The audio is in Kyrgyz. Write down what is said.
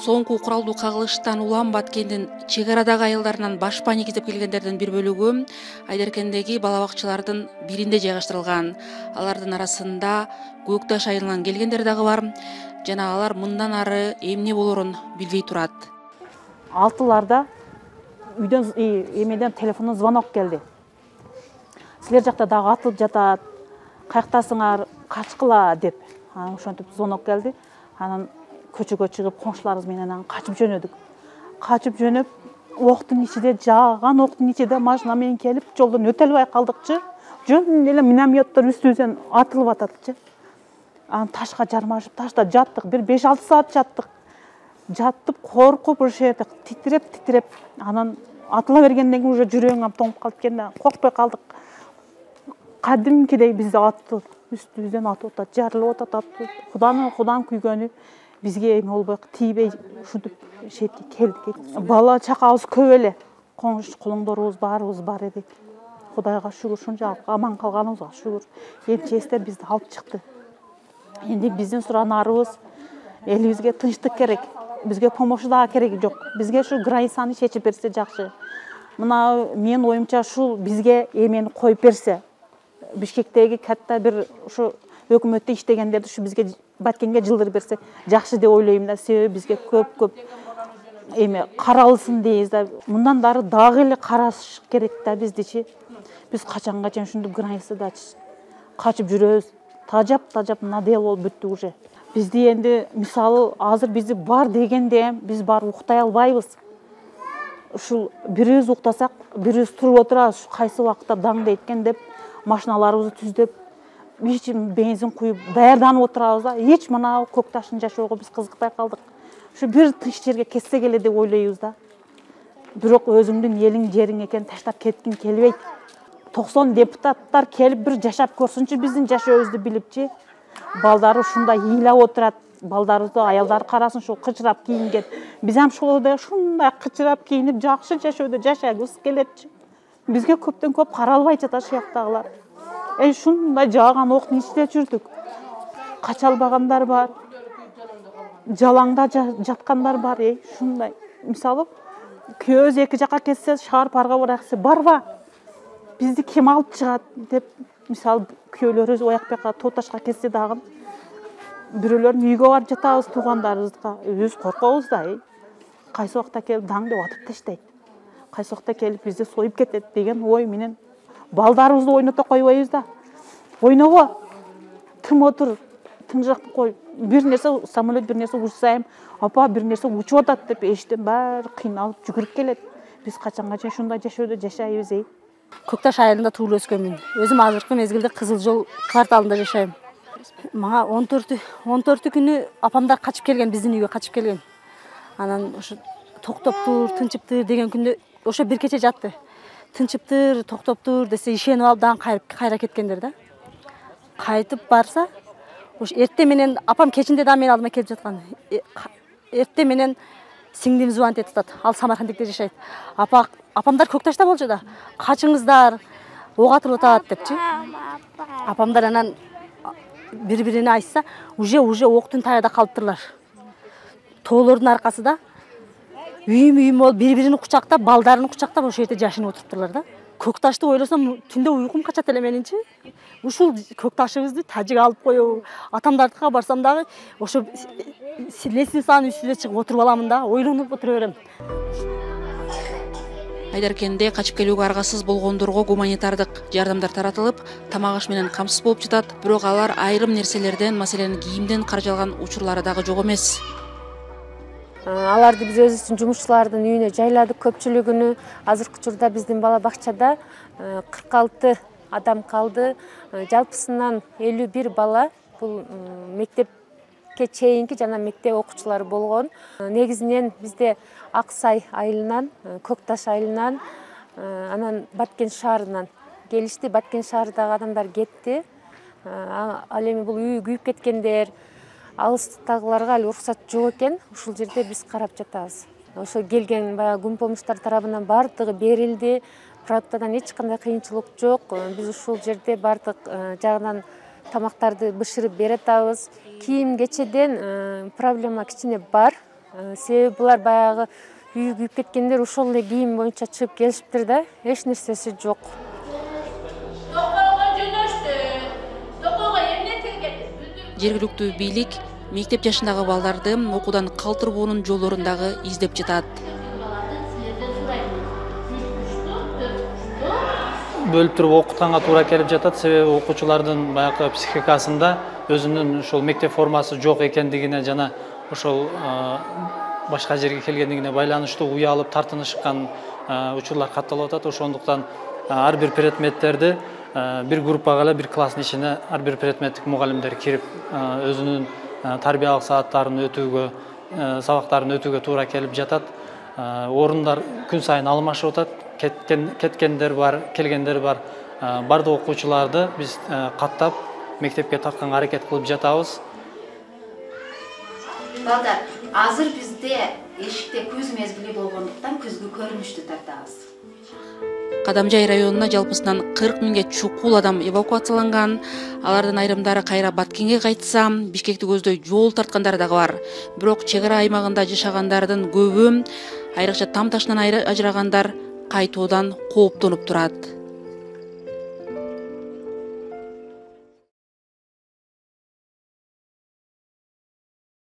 Соңку куралдуу кагылыштан улам Баткендин чек арадагы аялдарынан баш паник издеп келгендердин бир бөлүгү Айдаркендеги бала бакчалардын биринде жайгаштырылган. Алардын арасында Көкташ айылынан келгендер дагы бар жана алар мындан ары эмне болорун билбей турат. 6-ларда үйдөн эмеден телефондон звонок келди. Силер жакта дагы атылып жатат, каяктасыңар, качкыла деп. Ошентип звонок келди. Анан көчөгө чыгып коңшуларыбыз менен качып жөнөдүк. Качып жөнөп, октун ичинде жааган октун ичинде машина менен келип, жолдон өтө албай калдыкчы. Жөн эле минометтер үстүбүздөн атылып ататчы. Анан ташка жармашып, ташта жаттык. Бир 5-6 саат жаттык. Жаттып, коркуп, ошол жерде титиреп, анан атыла бергенден кийин уже жүрөгүм тоңуп калып экен да, коркпой калдык. Кадимкидей бизди атты, үстүбүздөн атып атат, жарылып атат. Кудан күйгөнү бизге эме болбой, тийбей ушинтип шетке келдик. Бала чакабыз көп эле. Коңш кулуңдорубуз баарыбыз бар эдик. Кудайга шүгүр, шунчалык аман калганыбызга шүгүр. МЧСтер бизди алып чыкты. Энди биздин суранарыбыз элибизге тынчтык керек. Бизге помощь дагы кереги жок. Бизге ушу границаны чечип берсе жакшы. Мына менин оюмча ушул бизге эмени коюп берсе. Бишкектеги катта бир ушу өкмөттө иштегендерди ушу бизге Баткенге жылдырып берсе жакшы деп ойлойм да. Себеби бизге көп эме каралсын дейбиз да. Мындан дагы эле караш керек да биздичи. Биз качанга чейин ушинтип границада качып жүрөбүз. Тажап надел болуп бүттүк уже. Бизди энди мисалы азыр бизди бар дегенде биз бар уктай албайбыз. Ушул бирибиз уктасак, бирибиз туруп отурабыз, кайсы убакытта даңдайт экен деп машиналарыбызды түздөп, бензин куюп, даярданып отурабыз да. Эч мына Көкташтын жашоого биз кызыкпай калдык. Ушу бир тынч жерге кетсек эле деп ойлойбуз да. Бирок өзүңдүн элиң, жериң экен таштап кеткиң келбейт. 90 депутаттар келип бир жашап көрсүнчү биздин жашообузду билипчи. Балдары ушундай ыйлап отурат. Балдарыбызды аялдары карасын ушул кычырап кийинген. Биз ham ушундай кычырап кийинип жакшы жашоодо жашагыбыз келетчи. Бизге көптөн көп каралбай жатат ушул жактагылар. Ушундай жааган октун ичинде жүрдүк. Кача албагандар бар. Жалаңда жаткандар бар. Ушундай. Мисалы, күйөөбүз эки жакка кетсе, шаар парга бараксы барба. Бизди ким алып чыгат деп, мисалы, күйөөлөрүбүз Оякбекка, Тооташка кетсе дагы бирөөлөрдүн үйгө барып жатабыз, туугандарыбызга. Өзүбүз коркобуз да. Кайсы убакта келип даңды атып таштайт. Кайсы убакта келип бизди союп кетет деген ой менен балдарыбызды ойното койбойбуз да. Ойнобо. Тым отур, тыңжак кой. Бир нерсе самолет бир нерсе учсайм, апа бир нерсе учуп атат деп эштен баары кыйналып жүгүрүп келет. Биз качанга чейин ушундай жашоодо жашайбыз? Көкташ айылында туулуп өскөнмүн. Өзүм азыркы мезгилде Кызыл Жол кварталында жашайм. Мага 14 күнү апамдар качып келген, биздин үйгө качып келген. Анан ошо токтоптур, тынчыптыр деген күндө ошо бир кече жатты. Тынчыптыр, токтоптур десе ишенип алып дагы кайра кеткендер да. Кайтып барса, ошо эртең менен апам кечинде дагы менин алдыма келип жаткан. Эртең менен сиңдим звонить этип атат. Ал Самаркандыкта жашайт. Апамдар Көкташта болчу да. Качыңыздар, ок атылып атат депчи. Апамдар анан бири-бирине айтса, уже октун тагында калыптырлар. Тоолордун аркасында үйүм болуп бири-бирини кучактап, балдарын кучактап ошол жерде жашынып отуруптурлар да. Көкташты ойлосом, түндө уйкум качат эле менинчи. Ушул Көкташыбызды тажик алып коебу, атамдардыкына барсам дагы ошо лестницанын үстүнө чыгып отуруп аламын да, ойлонуп отура берем. Айдаркенде качып келүүгө аргасыз болгондорго гуманитардык жардамдар таратылып, тамак аш менен камсыз болуп жатат. Бирок алар айрым нерселерден, маселен, кийимден каржалган учурлары дагы жок эмес. Аларды биз өзүбүздүн жумушчулардын үйүнө жайладык көпчүлүгүнө. Азыркы учурда биздин бала бакчада 46 адам калды. Жалпысынан 51 бала бул мектепке чейинки жана мектеп окуучулары болгон. Негизинен бизде Аксай айылынан, Көкташ айылынан, анан Баткен шаарынан келишти. Баткен шаарындагы адамдар кетти. Ал эми бул үйү күйүп кеткендер, алыстагыларга али уруксат жок экен. Ушул жерде биз карап жатабыз. Ошо келген баягы күн помощьтар тарабынан бардыгы берилди. Продуктадан эч кандай кыйынчылык жок. Биз ушул жерде бардык жагынан тамактарды бышырып бере атабыз. Кийим кечеден проблема кичине бар. Себеби булар баягы үйү күйүп кеткендер ошол эле кийим боюнча чыгып келишиптир да, эч нерсеси жок. Жергиликтүү бийлик мектеп жашындагы балдарды окуудан калтырбоонун жолдорун дагы издеп жатат. Бөлүп туруп окутканга туура келип жатат, себеби окуучулардын баягы психикасында өзүнүн ошол мектеп формасы жок экендигине жана ошол башка жерге келгендигине байланыштуу уялып тартынышкан учурлар катталып атат. Ошондуктан ар бир предметтерди бир группага эле, бир класстын ичине ар бир предметтик мугалимдер кирип өзүнүн тарбиялык сааттарын өтүүгө, сабактарын өтүүгө туура келип жатат. Орундар күн сайын алмашып атат. Кеткендер бар, келгендер бар. Бардык окуучуларды биз каттап мектепке тартканга аракет кылып жатабыз. Балдар, азыр бизде эшикте күз мезгили болгондуктан күзгү көрүнүштү тартабыз. Кадамжай районуна жалпысынан 40 миңге чукул адам эвакуацияланган. Алардын айрымдары кайра Баткенге кайтса, Бишкекти көздөй жол тарткандар дагы бар. Бирок чек ара аймагында жашагандардын көбү, айрыкча Там таштан ажырагандар, кайтуудан кооптонуп турат.